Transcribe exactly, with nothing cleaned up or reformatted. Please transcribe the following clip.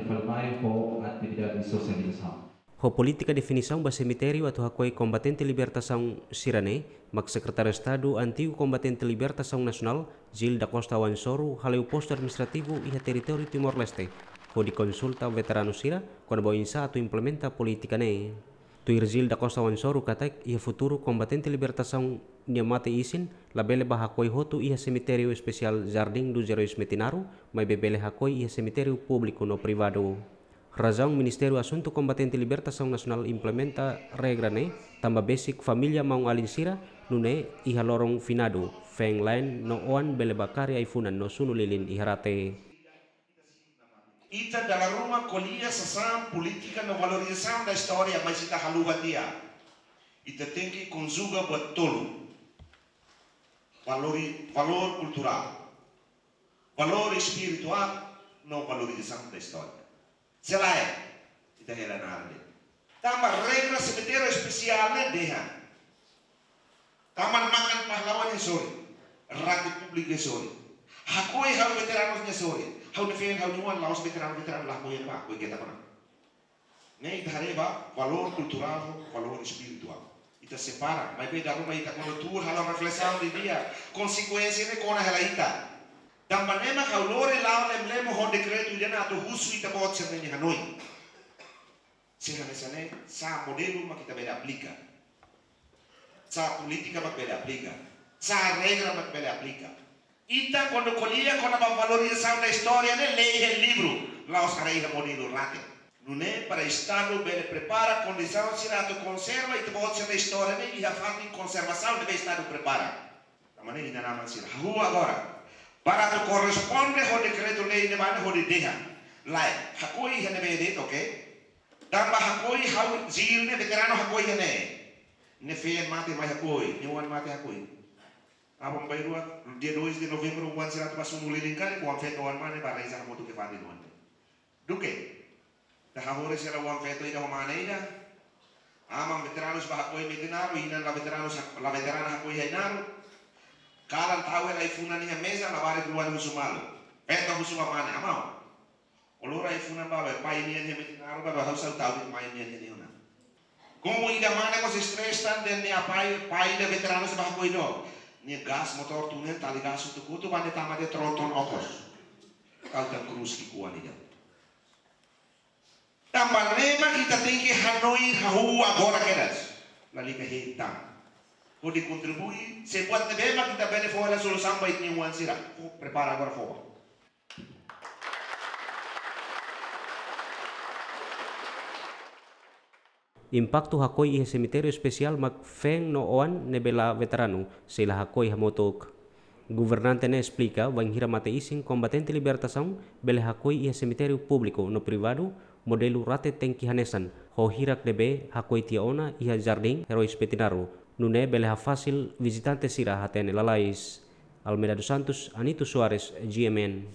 Fali mai ho atividade sosializasaun. Ho polítika definisaun ba semitériu atu hakoi kombatente libertasaun sira-ne'e, mak Sekretáriu Estadu Antigu Kombatente Libertasaun Nasionál, Gil da Costa Oan Soru, hale'u postu administrativu iha territóriu Timor-Leste, hodi konsulta veteranu sira kona-ba oinsá atu implementa polítika ne'e. Tuir Gil da Costa Oan Soru katak iha futuru kombatente libertasaun nia mate isin labele bá hakoi hotu iha semitériu espesiál Jardim dos Heróis Metinaro, maibé bele hakoi iha semitériu públiku no privadu. Razaun Ministériu Asuntu Kombatente Libertasaun Nasionál implementa regra ne'e, tanba besik família maun-alin sira, nune'e iha loron finadu, feen la'en no oan bele bá kari ai-funan no sunu lilin iha rate. Ita dala ruma ko'alia sasán polítika no valorizasaun da istória, mas ita haluha tiha. Ita tenke konjuga buat tolu. Valori-, valór kulturál, valór espirituál, no valorizasaun da istória. Se lae, ita hela nada. Tanba regra semitériu espesiál ne'e dehan: taman makan pahlawan nia sorin, rate públiku nia sorin. Hakoi ha'u veteranus nia sorin. Ha'u-nia feen, ha'u-nia oan, la'ós veteranu, veteranu la hakoi, ema hakoi keta kona. Ne'e ita haree ba valór kulturál, valór espirituál. Ita separa, maibé dala ruma ita kuandu tuur halo reflesaun didi'ak, konsekuénsia ne'e kona hela ita. Tanba ne'e mak ha'u lori la'o lemlemo ho dekretu ida-ne'e atu husu ita-boot sira-nia hanoin. Se hanesan ne'e, sá modelu mak ita bele aplika? Sá polítika mak bele aplika? Sá regra mak bele aplika? Ita kuandu ko'alia kona-ba valorizasaun da istória ne'e, lee iha livru, la'ós haree iha modelu rate. Nune'e para Estadu bele prepara kondisaun sira atu konserva ita-boot sira-nia istória ne'e iha fatin konservasaun ne'ebé Estadu prepara. Tanba ne'e inan-aman sira, hahú agora. Para atu korresponde ho dekretu-lei ne'ebá ne'e hodi dehan: lae, hakoi iha ne'ebé de'it, oke? Tanba hakoi ha'u Gil ne'e veteranu hakoi iha ne'e. Nia feen mate mai hakoi, nia oan mate hakoi. Aban-bainrua, dia dois de novembro, oan sira atu bá sunu lilin karik, oan-feto, oan-mane bá reza hamutuk iha fatin oan. Duké ita hahoris hela oan-feto ida ho mane ida. Aman veteranus bá hakoi iha Metinaro, inan la veteranus ha-, la veterana hakoi iha Ainaro. Kalan tau hela ai-funan iha meza, labarik oan husu malu. Feto husu ba mane: aman, ó lori ai-funan ba be pai nian iha Metinaro ba, be ha'u sá tau de'it mai nian iha ne'e ona. Komu ida mane mós stress tan dehan nia pai, pai ida veteranu sira bá hakoi no nia gás motór tun ne'e, tali gás hotu-hotu ba ne'e tama de'it tronton okos. Kau tan krus ki'ikoan ida. Tanba ne'e mak ita tenke hanoin hahú agora kedas. Lalika hein tan. Hodi kontribui, se buat ne'ebé mak ita bele fó hela solusaun ba ita-nia oan sira. Fó, prepara agora fó bá. Impaktu hakoi iha semitériu espesiál mak feen no oan ne'ebé la veteranu sei la hakoi hamutuk. Governante ne'e esplika, bainhira mate isin kombatente libertasaun bele hakoi iha semitériu públiku no privadu, modelu rate tenke hanesan, ho hirak ne'ebé hakoi tiha ona iha Jardim Heróis Metinaro, nune'e bele hafasil vizitante sira hatene lalais. Almeida dos Santos, Anito Soares, G M N.